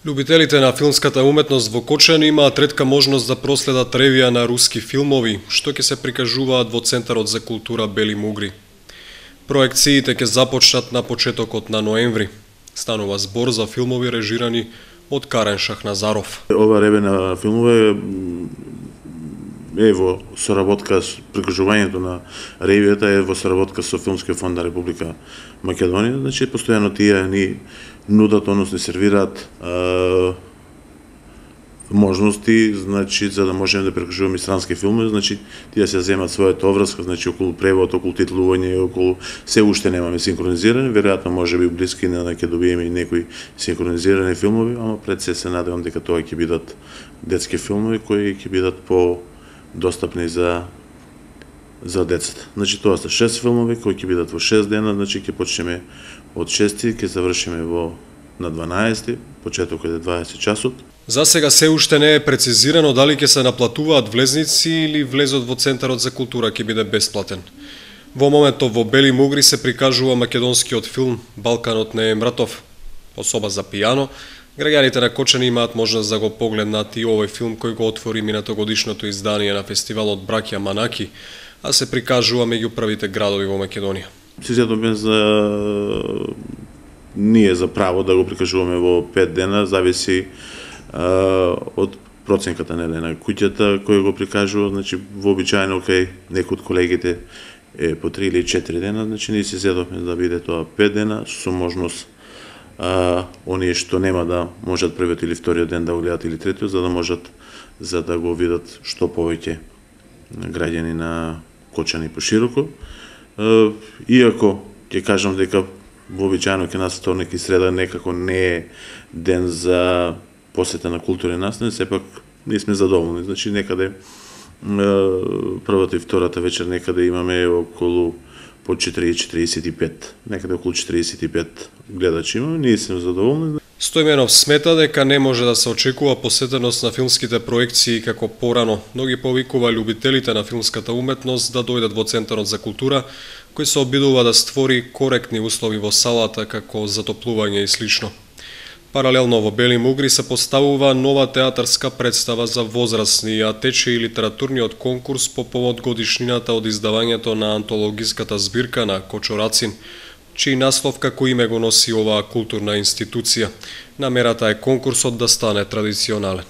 Љубителите на филмската уметност во Кочани имаат ретка можност да проследат ревија на руски филмови, што ќе се прикажуваат во Центарот за култура Бели Мугри. Проекциите ќе започнат на почетокот на ноември. Станува збор за филмови режирани од Карен Шахназаров. Ова реве на филмове е во соработка с прикажувањето на ревијата е во соработка со Филмскиот фонд на Република Македонија. Значи постојано тие ни нудат, односно сервираат можности, значи за да можеме да прикажуваме странски филми, значи тие се земат својата обврска, значи околу превод, околу титлување, околу се уште немаме синхронизирани, веројатно можеби блиски на ќе добиеме и некои синхронизирани филмови, ама пред се надевам дека тоа ќе бидат детски филмови кои ќе бидат по достапни за децата. Значи тоа се 6 филмови кои ќе бидат во 6 дена, значи ќе почнеме од 6 ќе завршиме на 12, почетокот е 20 часот. За сега се уште не е прецизирано дали ќе се наплатуваат влезници или влезот во Центарот за култура ќе биде бесплатен. Во моментов во Бели Мугри се прикажува македонскиот филм Балканот не е мртов, особа за пијано. Граѓаните на Кочани имаат можност да го погледнат и овој филм кој го отвори минатогодишното издание на фестивалот Браќа Манаки, а се прикажува меѓу првите градови во Македонија. Си зедоме ние за право да го прикажуваме во 5 дена, зависи од проценката на куќата кој го прикажува, значи вообичаено кај некои од колегите е по 3 или 4 дена, значи ние си зедовме да биде тоа 5 дена со можност оние што нема да можат првиот или вториот ден да го гледат или третиот, за да го видат што повеќе граѓани на Кочани пошироко. Иако ќе кажам дека вообичаено ке нас вторник и среда некако не е ден за посета на културни настани, сепак ние сме задоволни. Значи некаде првата и втората вечер некаде имаме околу по 4:45, некаде околу 45 гледачи имаме, ние сме задоволни. Стојменов смета дека не може да се очекува посетеност на филмските проекции како порано, но ги повикува љубителите на филмската уметност да дојдат во Центарот за култура, кој се обидува да створи коректни услови во салата како затоплување и слично. Паралелно во Бели Мугри се поставува нова театарска представа за возрастни, а тече и литературниот конкурс по повод годишнината од издавањето на антологиската збирка на Кочо Рацин, чиј наслов како име го носи оваа културна институција. Намерата е конкурсот да стане традиционален.